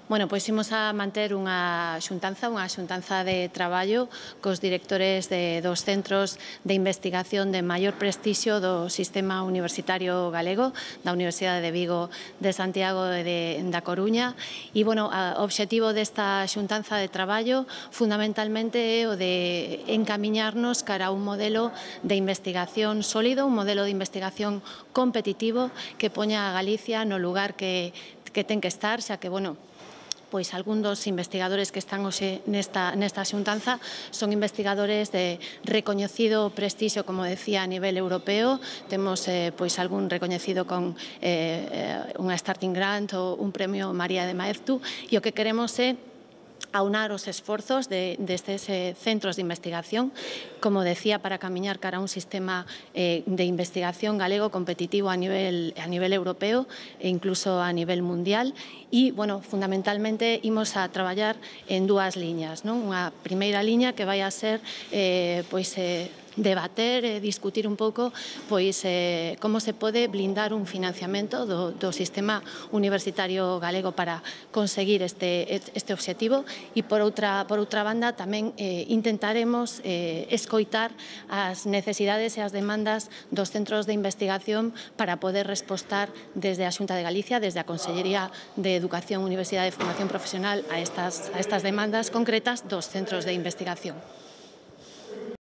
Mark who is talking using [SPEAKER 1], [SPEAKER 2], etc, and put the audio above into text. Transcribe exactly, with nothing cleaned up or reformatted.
[SPEAKER 1] Bueno, pois imos a manter unha xuntanza, unha xuntanza de traballo cos directores de, dos centros de investigación de maior prestixio do sistema universitario galego, da Universidade de Vigo, de Santiago e de, da Coruña. E, bueno, o obxectivo desta xuntanza de traballo fundamentalmente é o de encamiñarnos cara a un modelo de investigación sólido, un modelo de investigación competitivo que poña a Galicia no lugar que, que ten que estar, xa que, bueno, pois algún dos investigadores que están hoxe nesta, nesta xuntanza son investigadores de recoñecido prestixio, como decía, a nivel europeo. Temos eh, pois algún recoñecido con eh, unha starting grant ou un premio María de Maeztu, e o que queremos é aunar os esforzos de, destes eh, centros de investigación, como decía, para camiñar cara a un sistema eh, de investigación galego competitivo a nivel, a nivel europeo e incluso a nivel mundial. E, bueno, fundamentalmente imos a traballar en dúas liñas, non? Unha primeira liña que vai a ser eh, pois, eh, debater e discutir un pouco pois eh, como se pode blindar un financiamento do, do sistema universitario galego para conseguir este, este obxectivo, e por outra, por outra banda tamén eh, intentaremos eh, escoitar as necesidades e as demandas dos centros de investigación para poder respostar desde a Xunta de Galicia, desde a Consellería de Educación, Universidade e Formación Profesional a estas, a estas demandas concretas dos centros de investigación.